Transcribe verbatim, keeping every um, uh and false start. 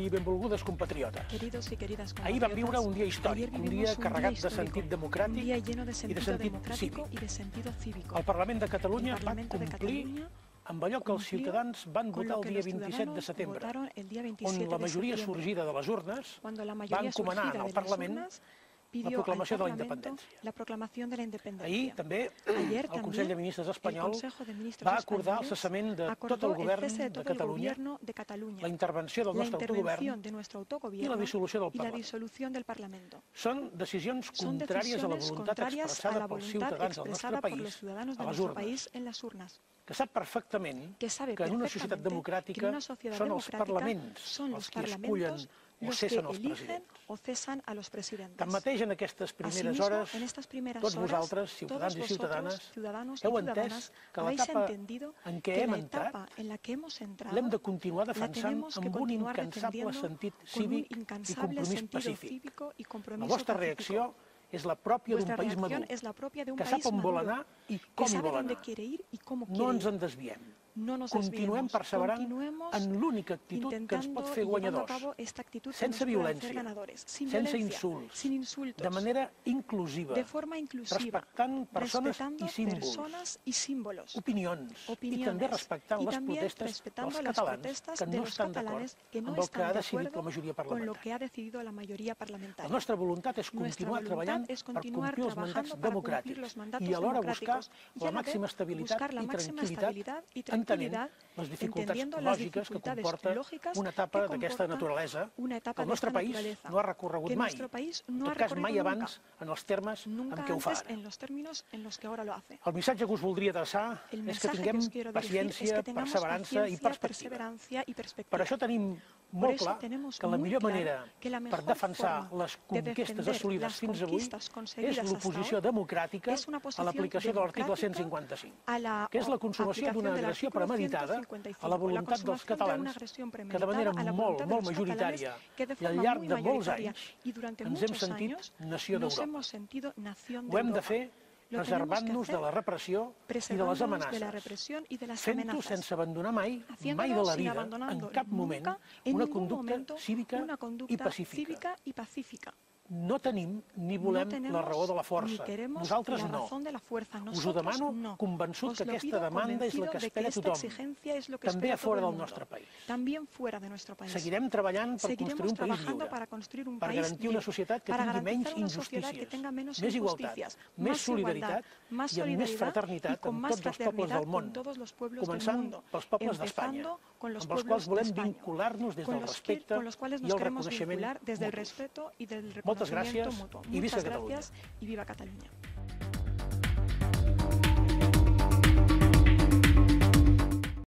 i benvolgudes compatriotes. Queridos y queridas compatriotas, Ahir vam viure un dia històric, un dia carregat de sentit democràtic un día lleno de i de sentido sentit democrático cívic. y de sentido cívico. El Parlament de Catalunya El va Parlamento de complir Cataluña amb allò que els cumplió ciutadans van con votar lo el que dia los vint-i-set de ciudadanos setembre, votaron el día on veintisiete la de majoria septiembre, sorgida de les urnes cuando la va mayoría encomanar surgida al de las Parlament urnas la pidió proclamació al de la Parlamento independència. la proclamación de la independencia. Ahir també Ayer el también Consell de Ministres el espanyol Consejo de Ministros va acordar el españoles cessament de tot acordó el govern cese de de todo el Catalunya, gobierno de Cataluña, la intervenció del la nostre autogovern intervención de nuestro i autogobierno la dissolució del y la Parlament. disolución del Parlamento. Són decisions Son contràries a la decisiones voluntat contrarias a expressada la pels voluntad ciutadans del nostre expresada por los país ciudadanos de a les nuestro urnes, país en las urnas. que sap perfectament Que sabe que en una societat perfectamente que en democràtica una sociedad són els democrática parlaments son els los qui escullen parlamentos o los que cessen els eligen presidents. o cesan a los presidentes. Tanmateix, en aquestes primeres Asimismo, hores, en estas primeras tots horas, vosaltres, todos ciutadans i vosotros, ciutadanes, ciudadanos y heu entès ciudadanas, que habéis l'etapa entendido en què que hem la entrat etapa en la que hemos entrado l'hem de continuar la defensant tenemos que amb un continuar incansable defendiendo sentit con un cívic i incansable compromís sentido pacífic. cívico y La compromiso vostra pacífico. reacció és la pròpia d'un Vuestra país reacción madur, es la propia de un que país sap on vol maduro, anar i que com hi sabe vol dónde anar. quiere ir y cómo No quiere ens ir. en desviem. No nos Continuem desviemos, perseverant continuemos en l'única actitud que ens intentando pot fer y llevando a guanyadors, cabo esta actitud que sense nos puede violència, hacer ganadores, sin sense violencia, insults, sin insultos, de manera inclusiva, de forma inclusiva, respectant persones respetando i símbols, personas y símbolos, opinions, opiniones, i també respectant y les también protestes respetando dels las catalans protestas que de no los estan d'acord catalanes que no amb el que están ha de decidit la acuerdo majoria con lo parlamentària. que ha decidido la mayoría La parlamentaria. nostra voluntat és Nuestra continuar voluntad treballant es per continuar complir els mandats trabajando para cumplir democràtics los mandatos i alhora buscar democráticos y la a la màxima vez estabilitat buscar la i máxima tranquil·litat, estabilidad y entenent tranquilidad, les dificultats entendiendo las lògiques que dificultades comporta lógicas una etapa que d'aquesta comporta naturalesa una que etapa el de nostre esta país naturaleza, no ha recorregut que mai, nuestro país en no ha tot cas mai recorrido abans en els termes en nunca què ho fa antes ara. en los términos en los que ahora lo hace. El missatge que us voldria traçar El és que mensaje que tinguem os quiero dirigir es paciència, que tengamos perseverança i paciencia, perspectiva. perseverancia y perspectiva. Per això tenim Por molt eso clar tenemos que la muy millor claro manera que la per mejor defensar forma les de conquestes defender assolides las fins avui conquistas és conseguidas hasta l'oposició ahora democràtica es una a posición l'aplicació de l'article democrática cent cinquanta-cinc, a la que és la consumació aplicación d'una del agressió artículo premeditada ciento cincuenta y cinco, a la voluntat la dels consumación de una catalans agresión que de premeditada manera a la molt, voluntad de molt los majoritària catalanes que de i al forma llarg muy de molts mayoritaria anys y durante ens hem muchos sentit años nació nos d'Europa. hemos sentido nación de Ho hem de Europa. fer Lo tenemos que preservant-nos de hacer la repressió i de les preservándonos de la amenaces, represión y de las fent-ho amenazas. sense abandonar mai, mai de Haciéndolo la sin vida, en abandonando cap moment, nunca, en una ningún conducta momento, cívica una i conducta pacífica. cívica y pacífica. No tenim ni volem no tenemos, la raó de la ni força. queremos Nosaltres la no. razón de la fuerza. Us ho Nosotros demano no. convençut Os que lo aquesta pido demanda és la que convencido de espera esta tothom, exigencia es lo que també espera a fora todo del el mundo. nostre país. También fuera de nuestro país. Seguirem treballant per Seguiremos construir un país trabajando lliure, para construir un per país garantir una libre, societat que para tingui menys garantizar una sociedad que injustícies, tenga menos més igualtat, injusticias, més más solidaritat igualdad, más i amb més solidaridad y fraternitat con amb más tots els pobles fraternidad del món, con todos los pueblos del començant mundo, pels pobles d'Espanya, empezando con los amb els pueblos quals de volem España, vincular-nos des con del los, que, respecte con los cuales i nos el queremos reconeixement vincular desde el mutus. respeto y del Moltes reconocimiento gràcies mutuo. i visca Muchas Catalunya. gracias y viva Cataluña.